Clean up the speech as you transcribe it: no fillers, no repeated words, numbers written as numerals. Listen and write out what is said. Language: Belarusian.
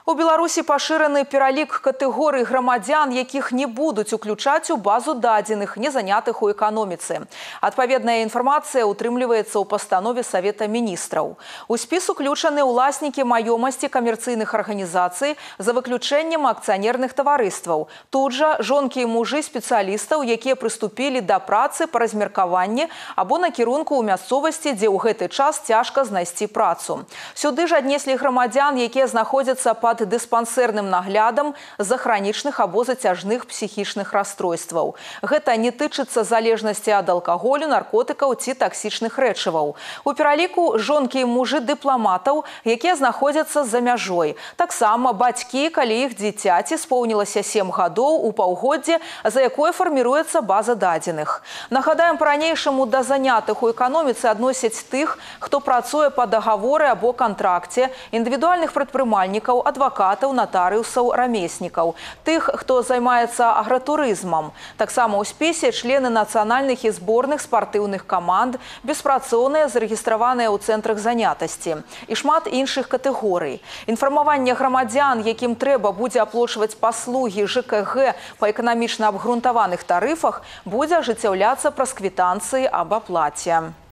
У Беларусі пашыраны пералік катэгорый грамадзян, якіх не будуць уключаць у базу дадзеных, не занятых у эканоміцы. Адпаведная інфармацыя утрымліваецца ў пастанове Савета міністраў. У спіс уключаны ўласнікі маёмасці камерцыйных арганізацый за выключэннем акцыянерных таварыстваў. Тут жа жонкі і мужы спецыялістаў, якія прыступілі да працы па размеркаванні або накірунку ў мясцовасці, дзе ў гэты час цяжка знайсці працу. Сюды ж аднеслі грамадзян, якія знаходзяцца пад дыспансерным наглядам з-за хранічных або зацяжных псіхічных расстройстваў. Гэта не тычыцца залежнасці ад алкаголю, наркотыкаў ці таксічных рэчываў. У пераліку жонкі і мужы дыпламатаў, якія знаходзяцца за мяжой. Таксама бацькі, калі іх дзіцяці споўнілася 7 гадоў у паўгоддзе, за якое фарміруецца база дадзеных. Нагадаем, па-ранейшаму да занятых у эканоміцы адносяць тых, хто працуе па дагаворы або кантракце, індывідуальных прадпрымальнікаў, адвакатаў, натарыусаў, рамеснікаў, тых, хто займаецца агратурызмам. Таксама ў спісе члены нацыянальных і зборных спартыўных каманд, беспрацоўныя, зарэгістраваныя ў цэнтрах занятасці і шмат іншых катэгорый. Інфармаванне грамадзян, якім трэба будзе аплочваць паслугі ЖКГ па эканамічна абгрунтаваных тарыфах, будзе ажыццяўляцца праз квітанцыі аб аплаце.